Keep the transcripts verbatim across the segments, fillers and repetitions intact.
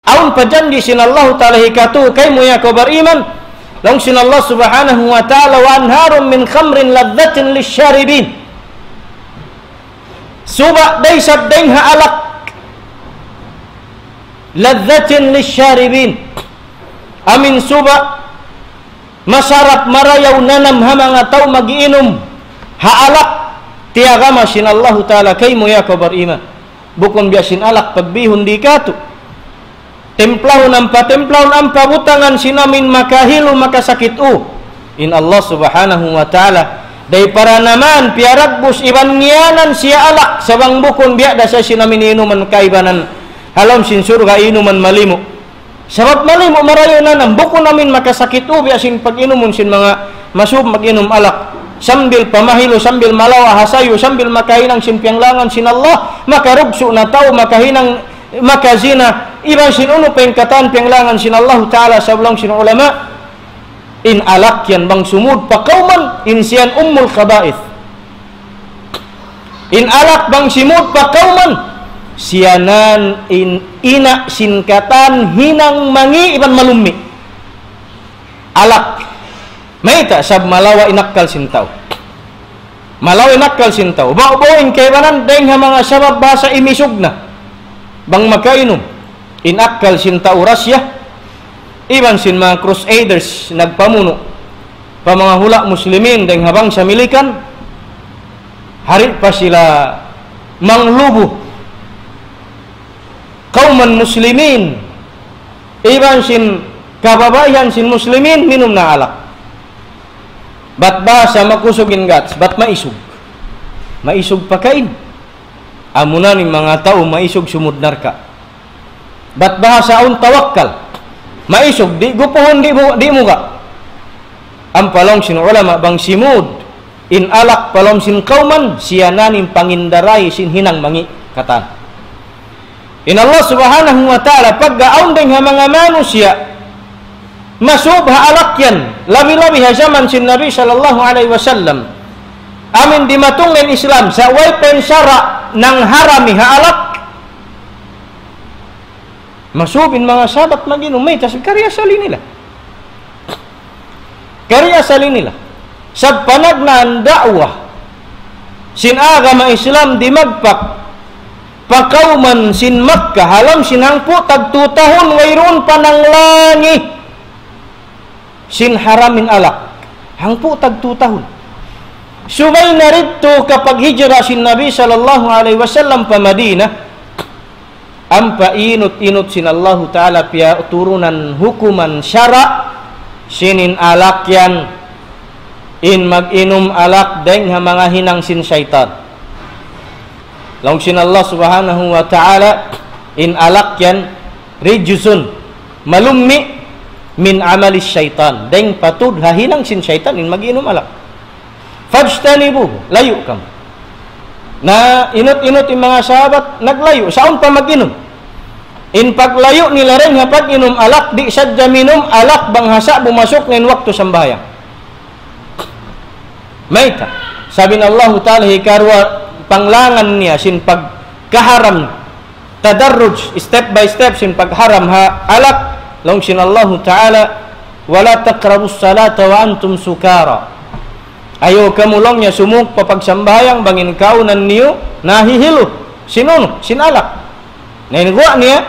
Awn pa janji' sin Allahu Ta'ala hikatu kaymu ya kaw bariman. Laung sin Allah Subhanahu wa Ta'ala, وأنهار من خمر لذة للشاربين. Suba' da isab dayn ha alak. لذة للشاربين. Amin suba' masarap marayaw nanam ha manga tau mag-iinum ha alak, tiyagama sin Allahu Ta'ala kaymu ya kaw bariman. Bukun biya' sin alak pagbihun di' katu'. Timplahun ampa timplahun ampa butangan sin amin makahilu makasakit u. In Allah Subhanahu wa Ta'ala, dayn para naman piyaragbus iban ngiyanan siya alak, sa' bang bukun biya' da sa sin amin inuman kaibanan ha lawm sin surga' inuman malimu. Sabab malimu marayaw nanam, bukun amin makasakit u biya' sin pag-inumun sin manga masub mag-inum alak. Sambil pamahilu, sambil malawa' ha sayu, sambil makahinang sin piyanglangan sin Allah, makarugsu' na tau, makahinang, makazina, iban sin unu pa in katan piyanglangan sin Allah Ta'ala, sabab laung sin ulama, in alak yan bang sumud pa kawman, in siyan ummul khaba'ith. In alak bang simud pa kawman, siyanan in ina' sin katan hinang mangi' iban malummi'. Alak. Mayta', sabab malawa' in akkal sin tau. Malawa' in akkal sin tau. Ba'gu-ba'gu in kaibanan, dayng ha manga sabab bahasa imisug na. Bang makainum. In akkal sin tau Russia, iban sin manga crusaders nagpamunu' pa manga hula' Muslimin dayng ha bangsa Milikan, hari pa sila manglubu kawman Muslimin, iban sin kababaihan sin Muslimin, minum na alak. Bat bahasa makusug in guts, bat maisug. Maisug pa kain. Amuna in manga tau maisug sumud narka'. Bat bahasa awn tawakkal. Maisug, di' gupuhun, di' mu-, di' muga'. Ampa laung sin ulama bang simud in alak pa lawm sin kawman, siyanan in pangindaray sin hinang mangi' katan. In Allah Subhanahu wa Ta'ala, pagga awn dayng ha manga manusiya' masub ha alak yan, labi-labi ha jaman sin Nabi sallallahu alayhi wasallam. Amin dimatung na in Islam, sa' way pa in sara' nangharami ha alak. Masub in manga sahabat mag-inum, mayta', sabab kari asal nila. Kari asal nila. Sabab panagnaan da'wa sin agama Islam dimagpak pa kawman sin Makkah, ha lawm sin hangpu' tagtu tahun, wayruun pa nanglangi sin haram in alak. Hangpu' tagtu tahun. Subay na didtu kapaghijra sin Nabi sallallahu alayhi wasallam pa Madinah, ampa inut-inut sin Allahu Ta'ala piyaturunan hukuman sara', sin in alak yan, in mag-inum alak dayng ha manga hinang sin saytan. Laung sin Allah Subhanahu wa Ta'ala, in alak yan, رجس, malummi', من عمل الشيطان, dayng pa tuud ha hinang sin saytan in mag-inum alak. فاجتنبوه, layu' kamu. Na inut-inut in manga sahabat, naglayu', sa' awn pa mag-inum. In paglayu' nila dayng ha pag-inum alak, di' sadja minum alak bang ha sa'bu masuk na in waktu sambahayang. Mayta'? Sabab in Allahu Ta'ala hikaruwa panglangan niya sin pagkaharam, tadarruj, step by step sin pagharam ha alak, laung sin Allahu Ta'ala, ولا تقربوا الصلاة وأنتم سكارى. Ayaw kamu laung niya sumuk pa pagsambahayang bang in kaawnan niyu nahihilu sin unu, sin alak. Na in guwa' niya,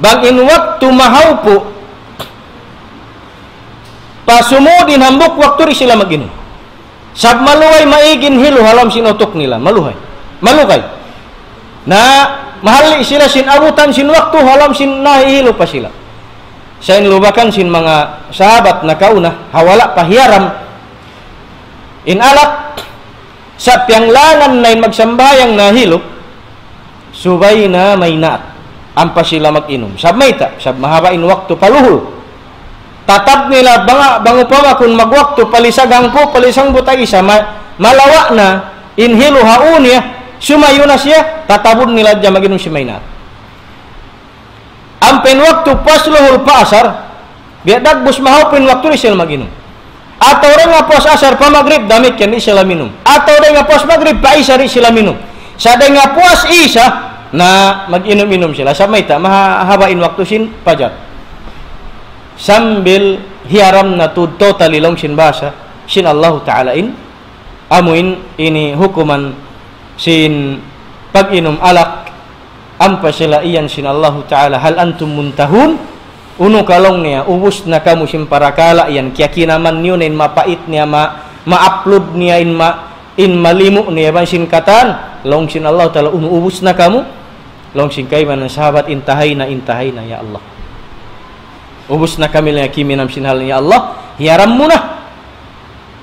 bang in waktu mahawpu', pasumud in hambuuk waktu di' sila mag-inum. Sabab maluhay maig in hilu ha lawm sin utuk nila, maluhay. Malugay. Na mahalli' sila sin abutan sin waktu ha lawm sin nahihilu pa sila. Sa' in lubakan sin manga sahabat nakauna, ha wala' pa hiyaram in alak, sa' piyanglangan na in magsambahayang nahilu, subay na maynaat. Ampa sila mag-inum. Sabab mayta', sabab mahaba' in waktu pa luhul. Tatab nila bang, bang upama kun magwaktu palisag hangpu', palisag hangpu' tag-isa, ma-, malawa' na in hilu ha ū niya, sumayu na siya, tatabun nila hadja mag-inum sin maynaat. Ampa in waktu puas luhul pa asar, biya' dagbus mahawpu' in waktu di' sila mag-inum. Atawa dayn ha puas asar pa magrib, damikkiyan di' sila minum. Atawa dayn ha puas magrib pa isa di' sila minum. Sa' dayn ha puas isa, Na mag-inum-inum sila. Sa' mayta', mahaba' in waktu sin pajar. Sambil hiyaram na tuud totally laung sin bahasa sin Allahu Ta'ala in, amu in ini hukuman sin pag-inum alak, ampa sila iyan sin Allahu Ta'ala, "Hal antum muntahun?" Unu ka laung niya, ubus na kamu sin parakala' yan, kiyakinaman niyu na in mapait niya, ma-, ma-upload niya in ma-, in malimu niya iban sin katan, laung sin Allahu Ta'ala, unu ubus na kamu? Laung sin kaibanan sahabat, intahay na, intahay na, ya Allah. Ubus na kami laung niya kiminam sin hal niya, ya Allah, hiyaram mu na.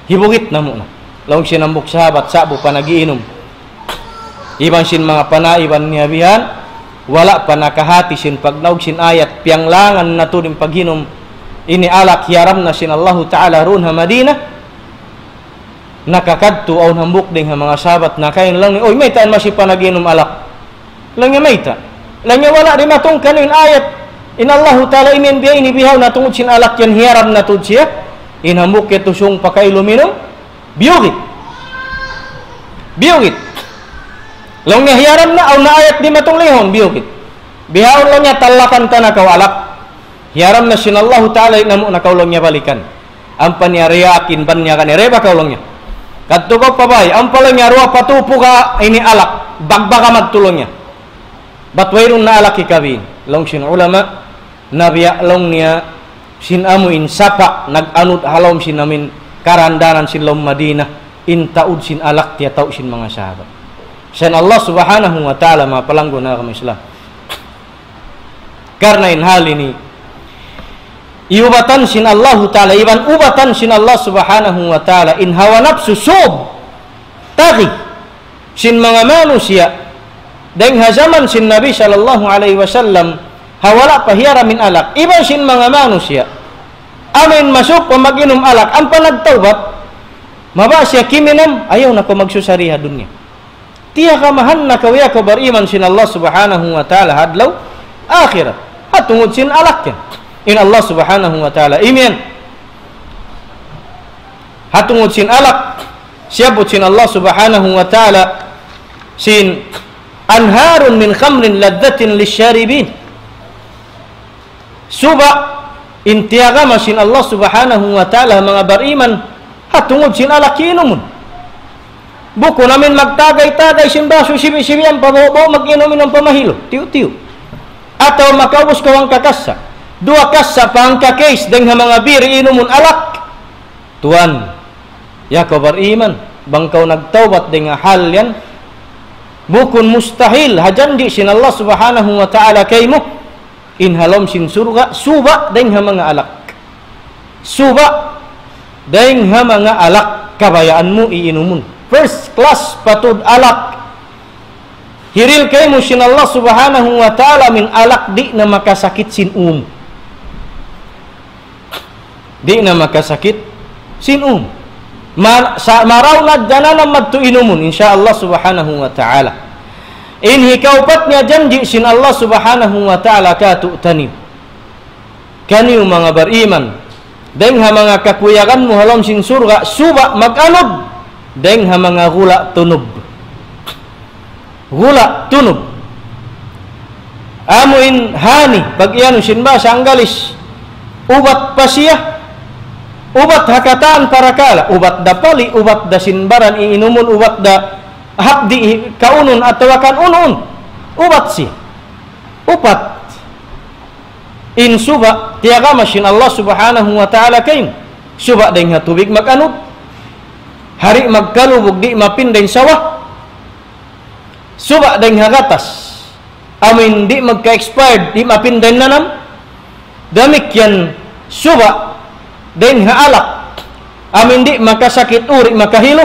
Hibugit namu' na. Laung sin hambuuk sahabat, sa'bu pa nag-iinum. Iban sin manga panaiban niya bihan, wala' pa nakahati sin pagnaug sin ayat, piyanglangan na tuud in pag-inum. Ini alak hiyaram na sin Allahu Ta'ala duun ha Madinah. Nakakadtu awn hambuuk dayn ha manga sahabat, nakain laung niya, "Uy, mayta' yan masi pa nag-inum alak?" Laung niya, "Mayta'?" Laung niya, "Wala' dimatung kaniyu in ayat in Allahu Ta'ala, imiyan biya' ini bihaun, na tungud sin alak yan hiyaram na tuud siya." In hambuuk yadtu sung pa kailu minum, biyugit. Biyugit. Laung niya, "Hiyaram na, awn na ayat dimatung lihun, biyugit. Bihaun," laung niya, "talakan ta na kaw alak. Hiyaram na sin Allahu Ta'ala, di' namu' na kaw," laung niya, "balikan." Ampa niya riyakin, ban niya kani, "Reba kaw," laung niya. "Kadtu kaw pa bay, ampa," laung niya, "duwa pa tū puka' ini alak, bagbaka madtu," laung niya. "Bat wayruun na alak hikabin." Laung sin ulama, na biya' laung niya sin amu in sapa' nag-anud ha lawm sin amu in karandanan sin lawm Madinah, in taud sin alak tiyatau' sin manga sahabat. Sa' in Allah Subhanahu wa Ta'ala, manga palanggu' na agama Islam. Karna' in hal ini, iyubatan sin Allahu Ta'ala, iban ubatan sin Allah Subhanahu wa Ta'ala, in hawa napsu, sub, tagi, sin manga manusiya', dayn ha jaman sin Nabi sallallahu alayhi wasallam, ha wala' pa hiyaram in alak, iban sin manga manusiya', amu in masuuk pa mag-inum alak, ampa nagtawbat, mabaya' siya kiminum, ayaw na kaw magsusari ha dunya. Tiyagamahan na kaw ya kaw bariman sin Allah Subhanahu wa Ta'ala ha adlaw akhirat. Ha tungud sin alak yan. In Allah Subhanahu wa Ta'ala imiyan. Ha tungud sin alak, siyabbut sin Allah Subhanahu wa Ta'ala sin أنهار من خمر لذة للشاربين. Suba' in tiyagama sin Allah Subhanahu wa Ta'ala ha manga bariman, ha tungud sin alak inumun. Bukun amu in magtagay-tagay sin basu sibi'-sibi' ampa baw-baw mag-inum-inum pa mahilu, tiyu'-tiyu'. Atawa makaubus kaw hangka kassa, duwa kassa pa hangka case dayn ha manga biri inumun alak. Tuwan, ya kaw bariman, bang kaw nagtawbat dayn ha hal yan, bukun mustahil ha janji' sin Allah Subhanahu wa Ta'ala kaymu, in ha lawm sin surga', suba' dayn ha manga alak. Suba' dayn ha manga alak, kabayaan mu iinumun. First class pa tuud alak. Hiril kaymu sin Allah Subhanahu wa Ta'ala, amu in alak di' na makasakit sin ū mu. Di' na makasakit sin ū mu. Ma-, sa-, marayaw na diyā na madtu inumun, insya Allah Subhanahu wa Ta'ala. In hikaupat niya janji' sin Allah Subhanahu wa Ta'ala kātu'niyu. Kaniyu manga bariman, dayn ha manga kakuyagan mu ha lawm sin surga', suba' mag-anud dayn ha manga gula' tunub. Gula' tunub. Amu in honey, pag-iyanun sin bahasa Anggalis, ubat pa siya, ubat ha katan parakala', ubat da pali', ubat da sin baran iinumun, ubat da hapdi' kaunun atawa kan unu-unu. Ubat siya. Upat. In suba', tiyagama sin Allah Subhanahu wa Ta'ala kaymu. Suba' dayn ha tubig mag-anud. Hari' magkalubug, di' mapinda in sawa. Suba' dayn ha gatas. Amu in di' magka-expired, di' mapinda in nanam. Damikkiyan suba' dayn ha alak. Amu in di' makasakit ū, di' makahilu.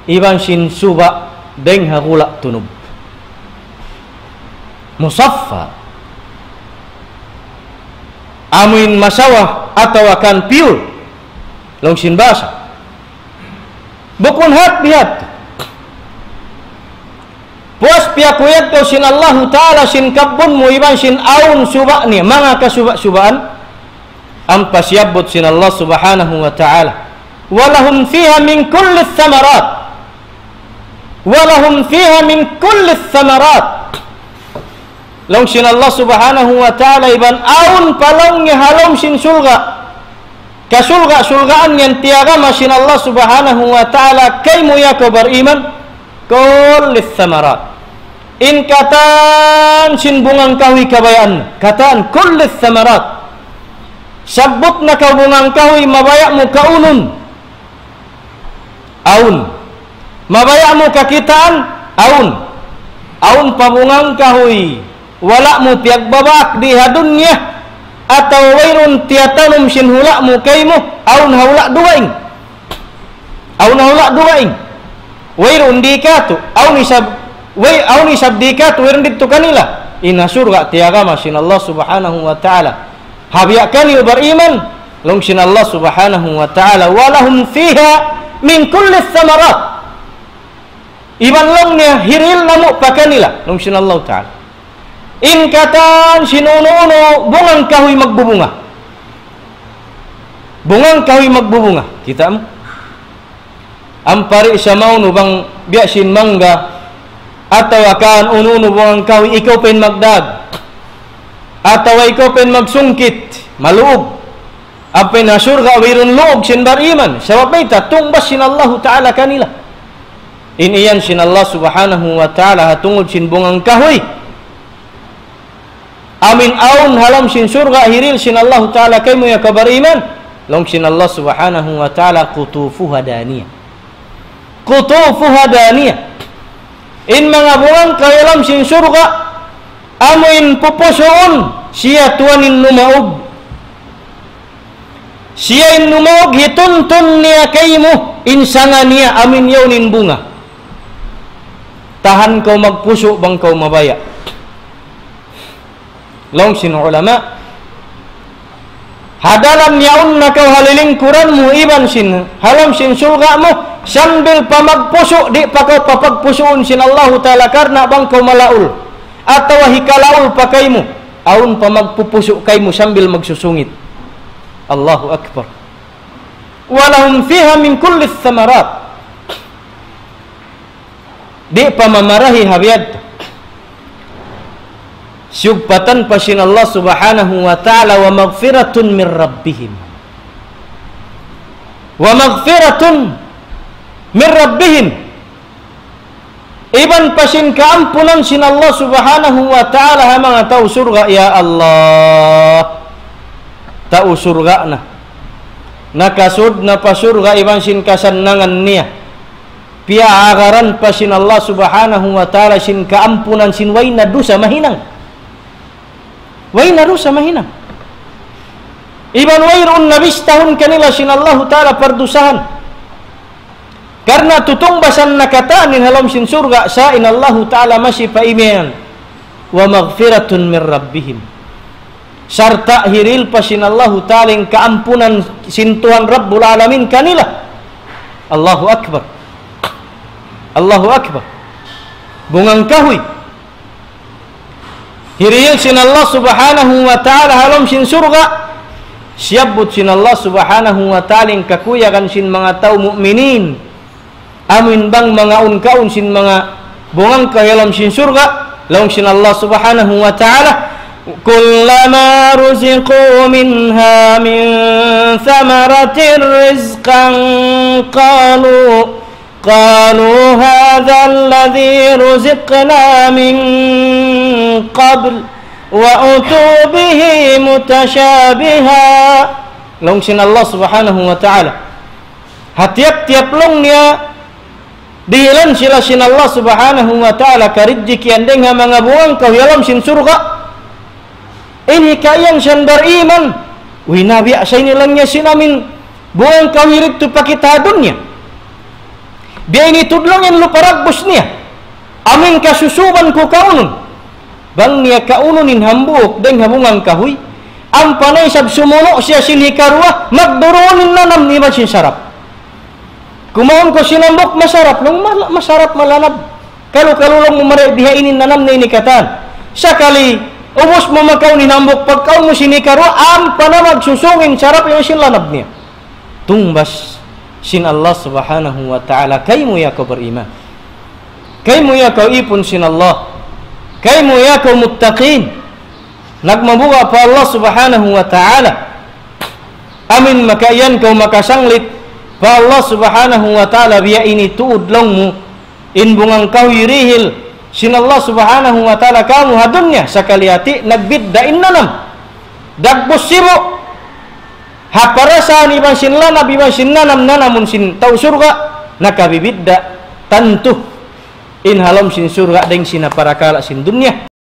Iban sin suba' dayn ha gula' tunub. Musaffa. Amu in masawa atawa kan pure. Laung sin bahasa. Bukun hat bihat. Puas piyakuyag kaw sin Allahu Ta'ala sin kabbun mu iban sin awn suba' niya, manga kasuba'-subaan. Ampa siyabbut sin Allah Subhanahu wa Ta'ala, ولهم فيها من كل الثمرات. ولهم فيها من كل الثمرات. Laung sin Allah Subhanahu wa Ta'ala, iban awn pa laung niya ha lawm sin surga'. Kasurga'-surgaan yan tiyagama sin Allah Subhanahu wa Ta'ala, kaymu ya kaw bariman, كل الثمرات. In katan sin bungang kahuy kabayaan, katan, كل الثمرات. Sabbut na kaw bungang kahuy, mabaya' mu kaunun. Awn. Mabaya' mu kakitaan, awn. Awn pa bungang kahuy wala' mu piyagbabak di ha dunya, atawa wayruun tiyatanum sin hula' mu kaymu, awn ha hula' dugaing. Awn ha hula' dugaing. Wayruun di katu', awn isab, way, awn isab di katu', wayruun didtu kanila. In ha surga' tiyagama sin Allah Subhanahu wa Ta'ala. Ha biya' kaniyu bariman, laung sin Allah Subhanahu wa Ta'ala, ولهم فيها من كل الثمرات. Iban laung niya hirihil namu' pa kanila, laung sin Allah Ta'ala. In katan sin unu-unu bungang kahuy magbubunga. Bungang kahuy magbubunga. Kita' mu? Ampari sa maunu bang biya' sin mangga, atawa kan unu-unu bungang kahuy, ikaw pa in magdag, atawa ikaw pa in magsungkit, maluug. Ampa in ha surga' wayruun luug sin bariman. Sabab mayta', tungbas sin Allahu Ta'ala kanila. In iyan sin Allah Subhanahu wa Ta'ala ha tungud sin bungang kahuy. Amu in awn ha lawm sin surga' hirihil sin Allahu Ta'ala kaymu ya kaw bariman. Laung sin Allah Subhanahu wa Ta'ala, قطوفها دانية. قطوفها دانية. In manga bungang kahuy ha lawm sin surga', amu in pupusuun siya tuwan in numaug. Siya in numaug, hituntun niya kaymu in sanga niya, amu in yaun in bunga. Tahan kaw magpusu' bang kaw mabaya'. Laung sin ulama, ha dalan yaun na kaw ha lilingkuran mu iban sin, ha lawm sin surga' mu, sambil pa magpusu', di' pa kaw papagpusuun sin Allahu Ta'ala karna' bang kaw malaul. Atawa hikalaul pa kaymu, awn pa magpupusu' kaymu sambil magsusungit. Allahu Akbar. ولهم فيها من كل الثمرات. Di' pa mamarahi ha biya' yadtu. Siyugpatan pa sin Allah Subhanahu wa Ta'ala, ومغفرة من ربهم. ومغفرة من ربهم. Iban pa sin kaampunan sin Allah Subhanahu wa Ta'ala ha manga tau surga', ya Allah. Tau surga' na. Nakasud na pa surga' iban sin kasannangan niya. Piyaagaran pa sin Allah Subhanahu wa Ta'ala sin kaampunan sin way na dusa mahinang. Way na dusa mahinang. Iban wayruun na bistahun kanila sin Allahu Ta'ala pardusahan. Karna' tutungbasan na katan in ha lawm sin surga', sa' in Allahu Ta'ala masi pa imiyan, ومغفرة من ربهم. Sarta' hirihil pa sin Allahu Ta'ala in kaampunan sin Tuhan Rabbul Alamin kanila. Allahu Akbar. Allahu Akbar. Bungang kahuy. Hirihil sin Allah Subhanahu wa Ta'ala ha lawm sin surga'. Siyabbut sin Allah Subhanahu wa Ta'ala in kakuyagan sin manga tau mu'minin. Amu in bang manga awn kaun sin manga bungang kahuy ha lawm sin surga'. Laung sin Allah Subhanahu wa Ta'ala, كلما رزقوا منها من ثمرة رزقا قالوا قالوا هذا الذي رزقنا من قبل وأتوا به متشابها. Laung sin Allah Subhanahu wa Ta'ala. Ha tiyap-tiyap laung niya, dihilan sila sin Allah Subhanahu wa Ta'ala karijjikian dayng ha manga bungang kahuy ha lawm sin surga'. Ini kaiyan siya bariman. Uy, nabiya' sa ini laung niya sin amin bungang kahuy didtu pa kita ha dunya. Biya' ini tuud laung in lupa dagbus niya. Amin kasusuban ku kaunun. Bang niya kaunun in hambuuk dayng ha bungang kahuy. Ampa na isab sumunu' siya sin hikaruwa, magduruun in nanam niya iban sin sarap. Kumaun kaw sin hambuuk masarap, laung mala-, masarap malanab. Kalu-kalu laung mu mari biha ini in nanam na ini katan. Sakali, ubus mu makaun in hambuuk pagkaun mu sin hikaruwa, ampa na magsusung in sarap iban sin lanab niya. Tungbas sin Allah Subhanahu wa Ta'ala, kaymu ya kaw bariman. Kaymu ya kaw ipun sin Allah. Kaymu ya kaw muttaqin, nagmabuga' pa Allah Subhanahu wa Ta'ala. Amin makaiyan kaw makasanglit pa Allah Subhanahu wa Ta'ala, biya' ini tuud laung mu in bungang kahuy dihil sin Allah Subhanahu wa Ta'ala kamu ha dunya, sakali hati nagbidda' in nanam. Dagbus sibu'. Ha parasahan iban sin lanab iban sin nanam, nanamun sin tau surga', nakabibidda' tantu in ha lawm sin surga' dayng sin ha parakala' sin dunya.